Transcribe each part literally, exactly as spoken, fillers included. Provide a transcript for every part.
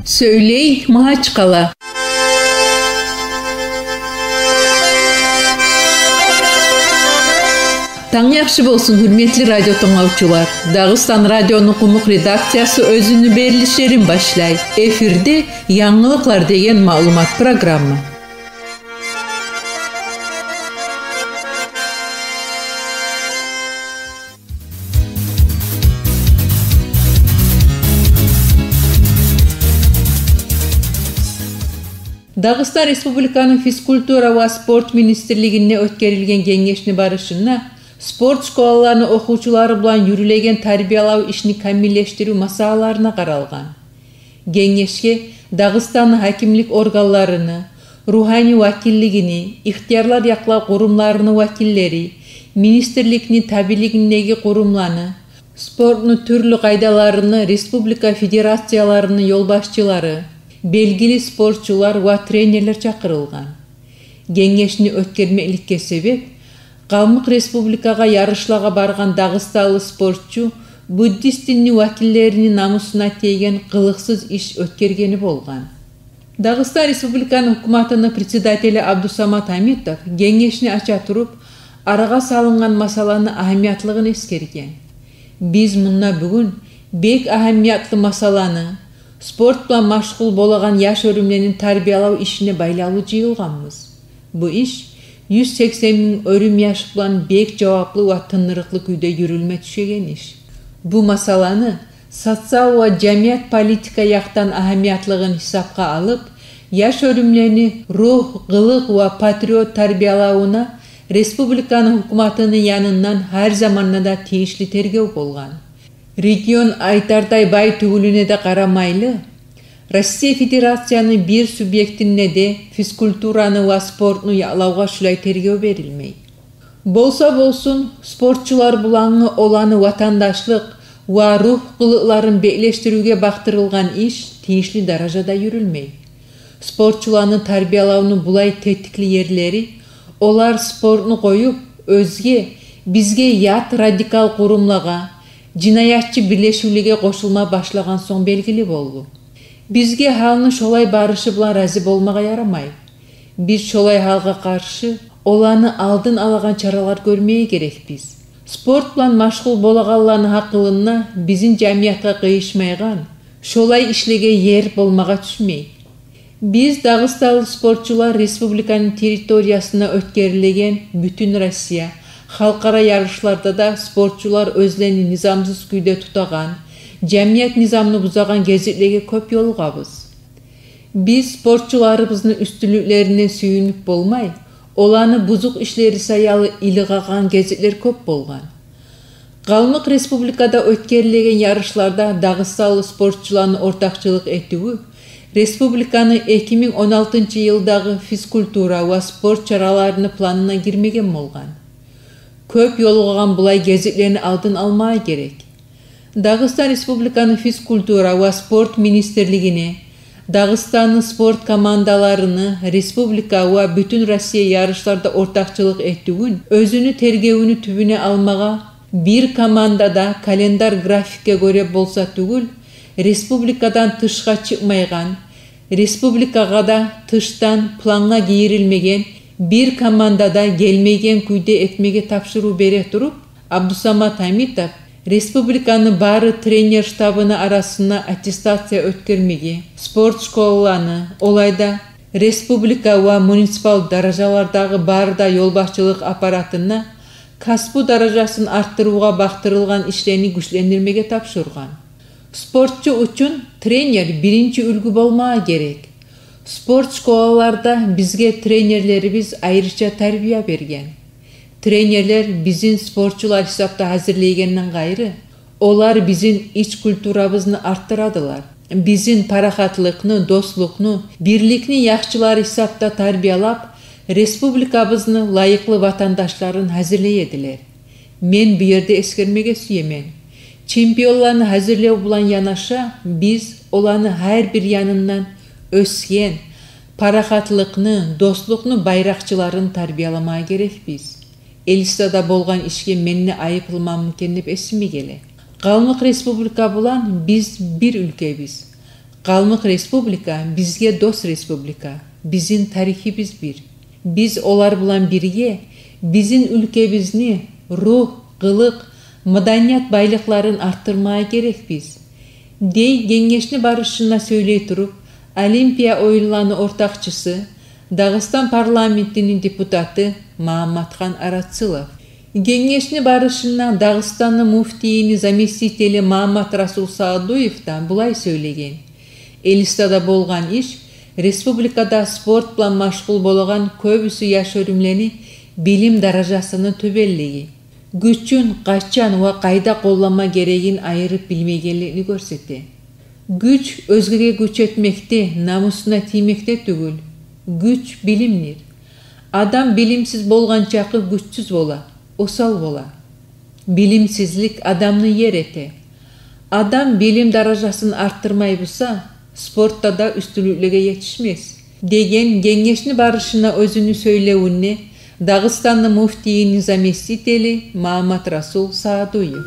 Сёйлей Магьачкъала. Танг яхшы болсун, гьюрметли радио тынглавчулар. Дагъыстан радиону къумукъ редакциясы оьзюню берилишлерин башлай. Эфирде «Янгылыкълар» деген маълумат программа. Дагъыстан Республиканы физкультура ва спорт министрлигинде оьтгерилген генгешни барышында спорт школаланы охувчулары булан юрюлеген тарбиялав ишни камиллешдирив масъалаларына къаралгъан. Генгешге Дагъыстанны гьакимлик органларыны, ругьани вакиллигини, ихтиярлар якълав къурумларыны вакиллери, министрликни табиилигиндеги къурумланы, спортну тюрлю къайдаларыны республика федерацияларыны ёлбашчылары, белгили спортчулар ва тренерлер чакъырылгъан. Генгешни оьтгермекликге себеп Къалмыкъ Республикагъа ярышлагъа баргъан дагъыстанлы спортчу буддист динни вакиллерини намусуна тийген къылыкъсыз иш оьтгергени болгъан. Дагъыстан Республиканы гьукуматыны председатели Абдусамат Гьамитов генгешни ача туруп, арагъа салынгъан масъаланы агьамиятлыгъын эсгерген. Биз мунда бугюн бек агьамиятлы масъаланы, спорт булан машгъул болагъан яш оьрюмлени тарбиялав ишине байлавлу жыйылгъанбыз. Бу иш юз сексен минг оьрюм яш булан бек жаваплы ва тынырыкълы кюйде юрюлме тюшеген иш. Бу масъаланы социал ва жамият политика якъдан агьамиятлыгъын гьисапгъа алып, яш оьрюмлени ругь, къылыкъ ва патриот тарбиялавуна республиканы гьукуматыны янындан гьар заманда да тийишли тергев болгъан. Регион айтардай бай тюгюлюне де къарамайлы, Россия Федерацияны бир субъектинде де физкультураны ва спортну якълавгъа шулай тергев берилмей. Болса болсун, спортчулар булангъы оланы ватандашлыкъ ва ругь къылыкъларын беклешдиривге бакъдырылгъан иш тийишли даражада юрюлмей. Спортчуланы тарбиялавну булай тетикли ерлери олар спортну къоюп, оьзге, бизге ят радикал къурумлагъа, жинаятчы бирлешивлеге къошулма башлагъан сонг белгили болду. Бизге гьалны шолай барышы булан рази болмагъа ярамай. Биз шолай гьалгъа къаршы оланы алдын алагъан чаралар гёрмеге герекбиз. Спорт булан машгъул болагъанланы гьакъылында бизин жамиятгъа къыйышмайгъан шолай ишлеге ер болмагъа тюшмей. Биз дагъыстанлы спортчулар республиканы территориясында оьтгерилеген Бютюн Россия, халкъара ярышларда да спортчулар оьзлени низамсыз кюйде тутагъан, жамият низамны бузагъан гезиклеге кёп ёлугъабыз. Биз спортчуларыбызны уьстюнлюклерине сююнюп болмай, оланы бузукъ ишлери саялы илигъагъан гезиклер кёп болгъан. Къалмыкъ Республикада оьтгерилеген ярышларда дагъыстанлы спортчуланы ортакъчылыкъ этивю республиканы эки минг он алтынчы йылдагъы физкультура ва спорт чараларыны планына гирмеген болгъан. Кёп ёлугъагъан булай гезиклени алдын алмагъа герек. Дагъыстан Республиканы физкультура ва спорт министрлигине Дагъыстанны спорт командаларыны республика ва Бютюн Россия ярышларда ортакъчылыкъ этивюн оьзюню тергевюню тюбюне алмагъа, бир команда да календарь графикге гёре болса тюгюл, республикадан тышгъа чыкъмайгъан, республикагъа да тышдан плангъа гийирилмеген, бир команда да гелмейген кюйде этмеге тапшырыв бере туруп, Абдусамат Гьамитов республиканы бары тренер штабыны арасына аттестация оьтгермеге, спорт школаланы, олайда республика ва муниципал даражалардагъы бары да ёлбашчылыкъ аппаратына касбу даражасын артдырывгъа бакъдырылгъан ишлени гючлендирмеге тапшургъан. Спортчу учун тренер биринчи уьлгю болмагъа герек. Спорт школаларда бизге тренерлерибиз айрыча тарбия берген. Тренерлер бизин спортчулар гьисапда гьазирлейгенден къайры, олар бизин ич культурабызны артдырадылар. Бизин парахатлыкъны, дослукъну, бирликни яхчылары гьисапда тарбиялап, республикабызны лайыкълы ватандашларын гьазирлей эдилер. Мен бу ерде эсгермеге сюемен: чемпионланы гьазирлев булан янаша, биз оланы гьар бир янындан оьсген, парахатлыкъны, дослукъну байракъчыларын тарбияламагъа герекбиз. Элистада болгъан ишге мен де айыплыманмы экен деп эсиме геле. Къалмыкъ Республика булан биз бир уьлкебиз. Къалмыкъ Республика бизге дос республика. Бизин тарихибиз бир. Биз олар булан бирге бизин уьлкебизни ругь, къылыкъ, маданият байлыкъларын артдырмагъа герекбиз, — дей генгешни барышында сёйлей туруп Олимпия оюнланы ортакъчысы, Дагъыстан парламентини депутаты Магьамматхан Арацылов. Генгешни барышында Дагъыстанны муфтийини заместители Магьамматрасул Саадуев да булай сёйлеген: Элистада болгъан иш республикада спорт булан машгъул болагъан кёбюсю яш оьрюмлени билим даражасыны тёбенлиги, гючюн къачан ва къайда къолланма герегин айырып билмейгенлигин гёрсете. Гюч оьзгеге гюч этмекде, намусуна тиймекде тюгюл. Гюч билимдир. Адам билимсиз болгъан чакъы гючсюз бола, осал бола. Билимсизлик адамны ер эте. Адам билим даражасын артдырмай буса, спортда да уьстюнлюклеге етишмес, — деген генгешни барышында оьзюню сёйлевюнде Дагъыстанны муфтийини заместители Магьамматрасул Саадуев.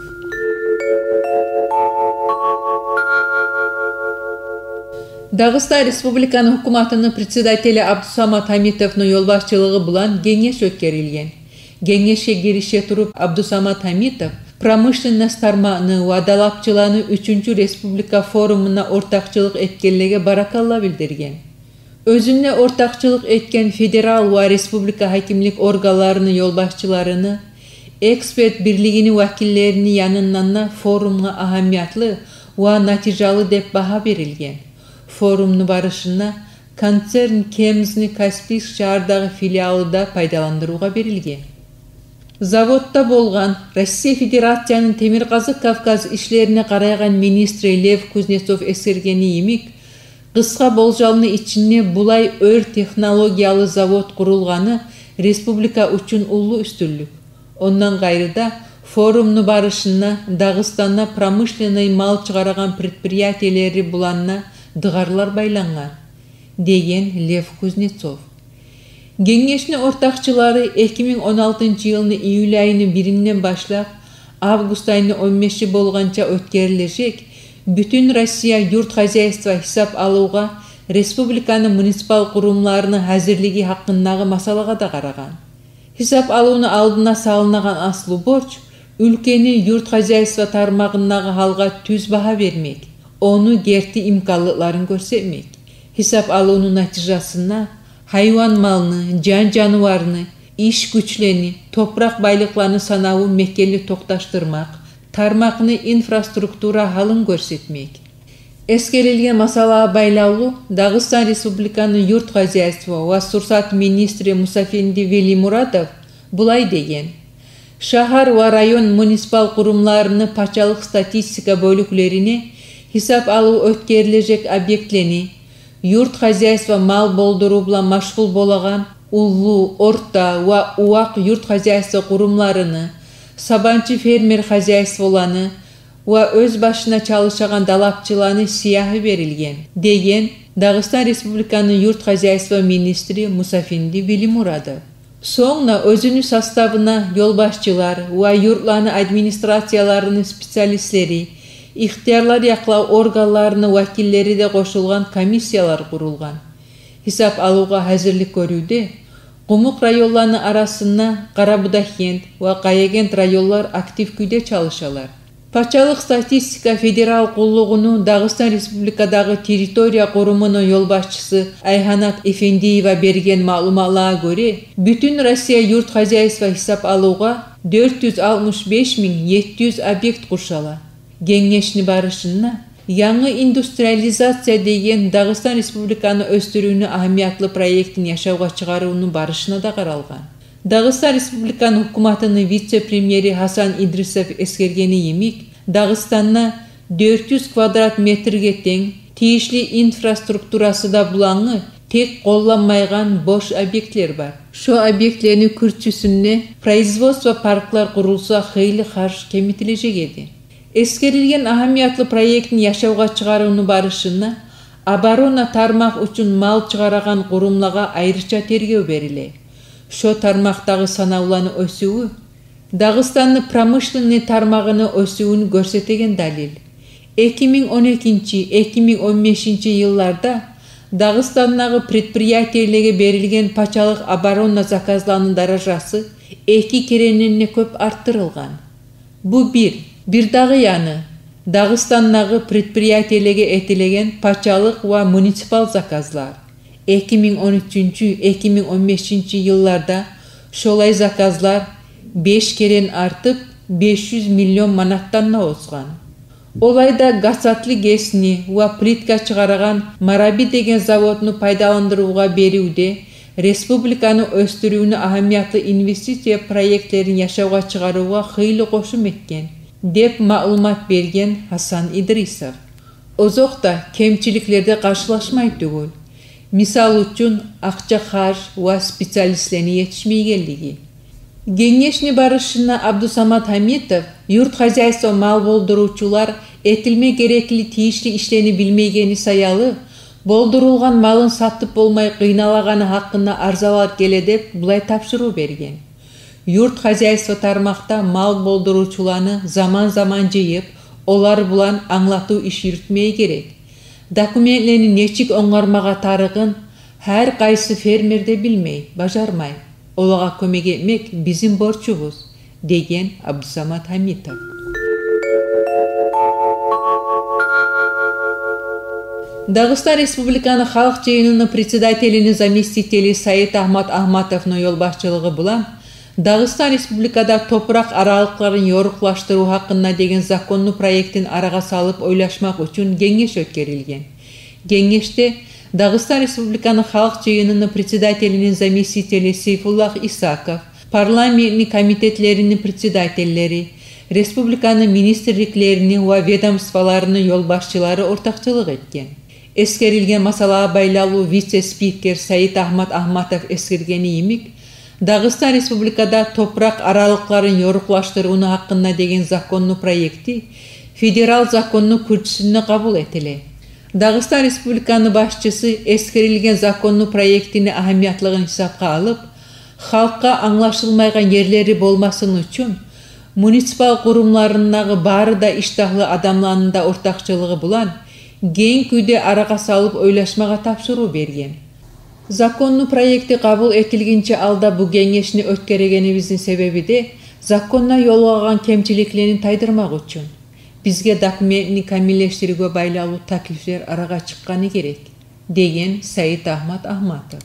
Дагъыстан Республиканы гьукуматыны председатели Абдусамат Гьамитовну ёлбашчылыгъы булан генгеш оьтгерилген. Генгешге гирише туруп Абдусамат Гьамитов промышленность тармагъыны ва далапчыланы уьчюнчю республика форумуна ортакъчылыкъ этгенлеге баракалла билдирген. Оьзюнде ортакъчылыкъ этген федерал ва республика гьакимлик органларыны ёлбашчыларыны, эксперт бирлигини вакиллерини янындан да форумгъа агьамиятлы ва натижалы деп багьа берилген. Форумну барышында концерн КЕМЗ-ни Каспийск шагьардагъы филиалы да пайдаландырывгъа берилген. Заводда болгъан Россия Федерацияны Темиркъазыкъ Кавказ ишлерине къарайгъан министри Лев Кузнецов эсгергени йимик, къысгъа болжамны ичинде булай оьр технологиялы завод къурулгъаны республика учун уллу уьстюнлюк. Ондан къайры да, форумну барышында Дагъыстанда промышленный мал чыгъарагъан предприятиелери булан да дыгъарлар байлангъан, — деген Лев Кузнецов. Генгешни ортакъчылары эки минг он алтынчы йылны июль айыны биринден башлап август айыны он беши болгъанча оьтгерилежек Бютюн Россия юрт хозяйство гьисап алывгъа республиканы муниципал къурумларыны гьазирлиги гьакъындагъы масъалагъа да къарагъан. Гьисап алывну алдына салынагъан аслу борч — уьлкени юрт хозяйство тармагъындагъы гьалгъа тюз багьа бермек, ону герти имканлыкъларын гёрсетмек. Гьисап алывну натижасында гьайван малны, жан-жаныварны, иш гючлени, топуракъ байлыкъланы санавун мекенли токъташдырмакъ, тармакъны инфраструктура гьалын гёрсетмек. Эсгерилген масъалагъа байлавлу Дагъыстан Республиканы юрт хозяйство ва сурсат министри Мусафенди Велимурадов булай деген: шагьар ва район муниципал къурумларыны пачалыкъ статистика бёлюклерине гьисап алыв оьтгерилежек объектлени, юрт хозяйство мал болдурув булан машгъул болагъан уллу, орта ва увакъ юрт хозяйство къурумларыны, сабанчы фермер хозяйстволаны ва оьз башына чалышагъан далапчыланы сиягьы берилген, — деген Дагъыстан Республиканы юрт хозяйство министри Мусафенди Велимурадов. Сонг да оьзюню составына ёлбашчылар ва юртланы администрацияларыны специалистлери, ихтиярлар якълав органларыны вакиллери де къошулгъан комиссиялар къурулгъан. Гьисап алывгъа гьазирлик гёрювде къумукъ районланы арасында Къарабудагъгент ва Къаягент районлар актив кюйде чалышалар. Пачалыкъ статистика федерал къуллугъуну Дагъыстан Республикадагъы территория къурумуну ёлбашчысы Айгьанат Эфендиева берген маълуматлагъа гёре, Бютюн Россия юрт хозяйство гьисап алывгъа дёрт юз алтмыш беш минг етти юз объект къуршала. Генгешни барышында янгы индустриализация деген Дагъыстан Республиканы оьсдюрювню агьамиятлы проектин яшавгъа чыгъарывну барышына да къаралгъан. Дагъыстан Республиканы гьукуматыны вице-премьери Гьасан Идрисов эсгергени йимик, Дагъыстанда дёрт юз квадрат метрге тенг тийишли инфраструктурасы да булангъы тек къолланмайгъан бош объектлер бар. Шо объектлени кюрчюсюнде производство парклар къурулса, хыйлы харж кемитилежек эди. Эсгерилген агьамиятлы проектни яшавгъа чыгъарывну барышында оборона тармакъ учун мал чыгъарагъан къурумлагъа айрыча тергев бериле. Шо тармакъдагъы санавланы оьсювю Дагъыстанны промышленный тармагъыны оьсювюн гёрсетеген далил. Эки минг он экинчи, эки минг он бешинчи йылларда Дагъыстандагъы предприятиелеге берилген пачалыкъ оборонный заказланы даражасы эки керенден де кёп артдырылгъан. Бу бир. Бирдагъы яны, Дагъыстандагъы предприятиелеге этилеген пачалыкъ ва муниципал заказлар. Эки минг он уьчюнчю, эки минг он бешинчи йылларда шолай заказлар беш керен артып, беш юз миллион манатдан да осгъан. Олай да гасатлы ГЭСни ва плитка чыгъарагъан Мараби деген заводну пайдаландырывгъа беривде республиканы оьсдюрювню агьамиятлы инвестиция проектлерин яшавгъа чыгъарывгъа хыйлы къошум этген, деп маълумат берген Гьасан Идрисов. Озокъда, кемчиликлер де къаршылашмай тюгюл. Мисал учун, акъча харж ва специалистлени етишмейгенлиги. Генгешни барышында Абдусамат Гьамитов юрт хозяйство мал болдурувчулар этилме герекли тийишли ишлени билмейгени саялы, болдурулгъан малын сатып болмай къыйналагъаны гьакъында арзалар геле деп, булай тапшырыв берген: юрт хозяйство тармакъда мал болдурувчуланы заман-заман жыйып, олар булан англатыв иш юрютмеге герек. Документлени нечик онгармагъа тарыгъын гьар къайсы фермер де билмей, бажармай. Олагъа кёмек этмек бизин борчубуз, деген Абдусамат Гьамитов. Дагъыстан Республиканы Халкъ Жыйыныны председателини заместители Саид Агьмат Агьматовну ёлбашчылыгъы булан Дагъыстан Республикада топуракъ аралыкъларын ёрукълашдырыв гьакъында деген законну проектин арагъа салып ойлашмакъ учун генгеш оьтгерилген. Генгешде Дагъыстан Республиканы Халкъ Жыйыныны председателини заместители Сейфуллагь Исаков, парламентни комитетлерини председателлери, республиканы министрликлерини ва ведомстволарыны ёлбашчылары ортакъчылыкъ этген. Эсгерилген масъалагъа байлавлу вице-спикер Саид Агьмат Агьматов эсгергени йимик, Дагъыстан Республикада топуракъ аралыкъларын ёрукълашдырывну гьакъында деген законну проекти федерал законну кюрчюсюнде къабул этиле. Дагъыстан Республиканы башчысы эсгерилген законну проектини агьамиятлыгъын гьисапгъа алып, халкъгъа англашылмайгъан ерлери болмасын учун, муниципал къурумларындагъы бары да иштагьлы адамланы да ортакъчылыгъы булан генг кюйде арагъа салып ойлашмагъа тапшырыв берген. Законну проекти къабул этилгинче алда бу генгешни оьтгерегенибизни себеби де законда ёлугъагъан кемчиликлени тайдырмакъ учун. Бизге документни камиллешдирювге байлавлу таклифлер арагъа чыкъгъаны герек, деген Саид Агьмат Агьматов.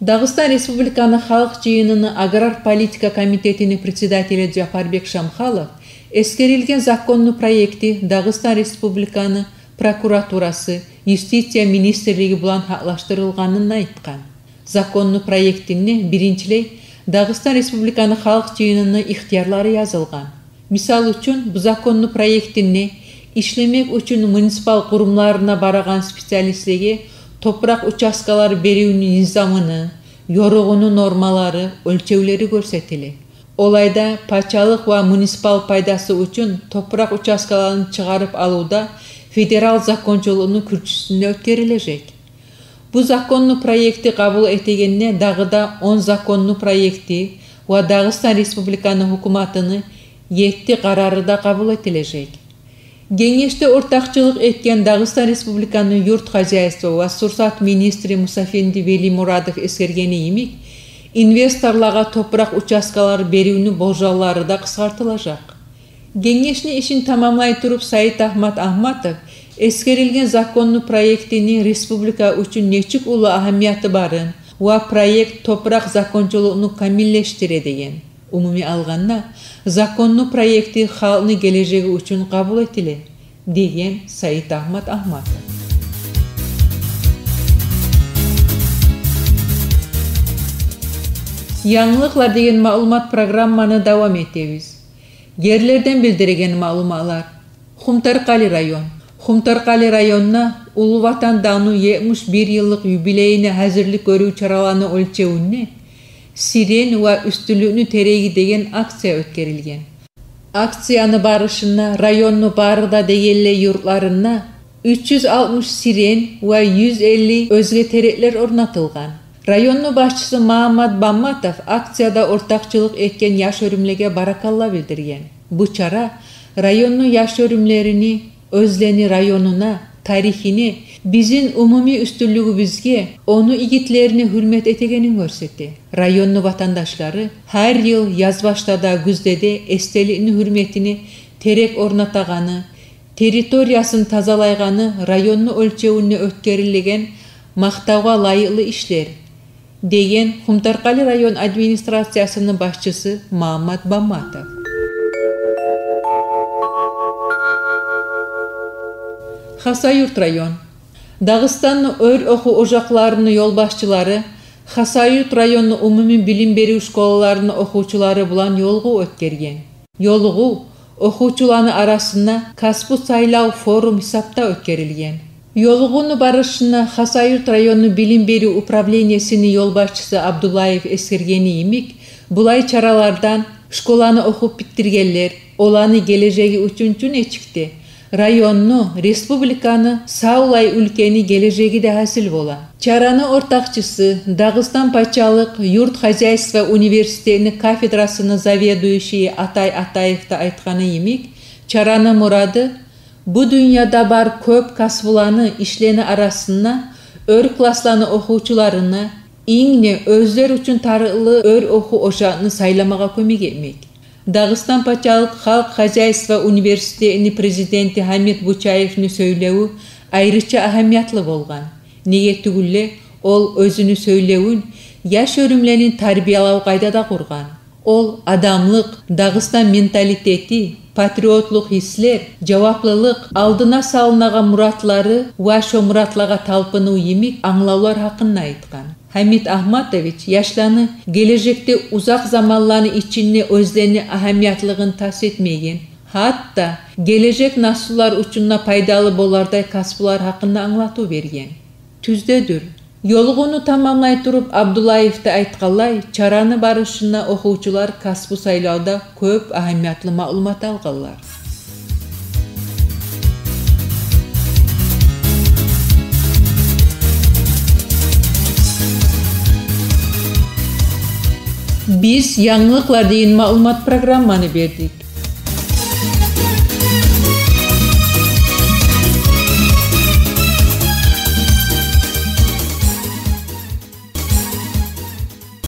Дагъыстан Республиканы Халкъ Жыйыныны аграр политика комитетини председатели Жапарбек Шамхалов эсгерилген законну проекти Дагъыстан Республиканы прокуратурасы, юстиция министрлиги булан гьакълашдырылгъанын айтгъан. Законну проектинде биринчилей Дагъыстан Республиканы Халкъ Жыйыныны ихтиярлары язылгъан. Мисал учун, бу законну проектинде ишлемек учун муниципал къурумларына барагъан специалистлеге топуракъ участкалар беривню низамыны, ёругъуну нормалары, оьлчевлери гёрсетиле. Олай да пачалыкъ ва муниципал пайдасы учун топуракъ участкаларын чыгъарып алывда федерал закончулукъну кюрчюсюнде оьтгерилежек. Бу законну проекти къабул этегенде дагъы да он законну проекти ва Дагъыстан Республиканы гьукуматыны етти къарары да къабул этилежек. Генгешде ортакъчылыкъ этген Дагъыстан Республиканы юрт хозяйство ва сурсат министри Мусафенди Велимурадов эсгергени йимик, инвесторларгъа топуракъ участкалар беривню болжаллары да къысгъартылажакъ. Генгешни ишин тамамлай туруп, Саид Агьмат Агьматов эсгерилген законну проектини республика учун нечик уллу агьамияты барын ва проект топуракъ закончулукъну камиллешдире деген. Умумий алгъанда, законну проекти халкъны гележеги учун къабул этиле, деген Саид Агьмат Агьматов. Янгылыкълар деген маълумат программаны давам этебиз. Ерлерден билдиреген маълуматлар. Хумторкъали район. Хумторкъали районда Уллу Ватан дагъны етмиш бир йыллыкъ юбилейине гьазирлик гёрюв чараланы оьлчевюнде «Сирен ва уьстюнлюкню тереги» деген акция оьтгерилген. Акцияны барышында районну бары да дегенлей юртларында уьч юз алтмыш сирен ва юз элли оьзге тереклер орнатылгъан. Районну башчысы Магьаммат Бамматов акцияда ортакъчылыкъ этген яш оьрюмлеге баракалла билдирген. Бу чара районну яш оьрюмлерини оьзлени районуна, тарихине, бизин умумий уьстюнлюгюбюзге, ону игитлерине гьюрмет этегенин гёрсете. Районну ватандашлары гьар йыл язбашда да, гюзде де эстеликни гьюрметине терек орнатагъаны, территориясын тазалайгъаны районну оьлчевюнде оьтгерилеген макътавгъа лайыкълы ишлер, деген Къумторкъали район администрациясыны башчысы Магьаммат Бамматов. Хасавюрт район. Дагъыстанны оьр охув ожакъларыны ёлбашчылары Хасавюрт районну умумий билим берив школаларыны охувчулары булан ёлугъув оьтгерген. Ёлугъув охувчуланы арасында касбу сайлав форум гьисапда оьтгерилген. Ёлугъувну барышында Хасавюрт районну билим берив управлениесини ёлбашчысы Абдуллаев эсгергени йимик, булай чаралардан школаны охуп битдиргенлер, оланы гележеги учун чу нечик де районну, республиканы, савлай уьлкени гележеги де гьасил бола. Чараны ортакъчысы, Дагъыстан пачалыкъ юрт хозяйство университетини кафедрасыны заведующийи Атай Атаев да айтгъаны йимик, чараны мурады бу дюньяда бар кёп касбуланы, ишлени арасында оьр классланы охувчуларына инг де оьзлер учун тарыкълы оьр охув ожакъны сайламагъа кёмек этмек. Дагъыстан пачалыкъ халкъ хозяйство университетини президенти Гьамит Бучаевни сёйлевю айрыча агьамиятлы болгъан. Неге тюгюл де, ол оьзюню сёйлевюн яш оьрюмлени тарбиялав къайдада къургъан. Ол адамлыкъ, Дагъыстан менталитети, патриотлукъ гьислер, жаваплылыкъ, алдына салынагъан муратлары ва шо муратлагъа талпынув йимик англавлар гьакъында айтгъан. Гьамит Агьматович яшланы гележекде узакъ заманланы ичинде оьзлени агьамиятлыгъын тас этмейген, гьатта гележек наслулар учун да пайдалы болардай касбулар гьакъында англатыв берген. Тюздедюр. Ёлугъувну тамамлай туруп, Абдуллаев да айтгъанлай, чараны барышында охувчулар касбу сайлавда кёп агьамиятлы маълумат алгъанлар. Биз янгылыкълар деген маълумат программаны бердик.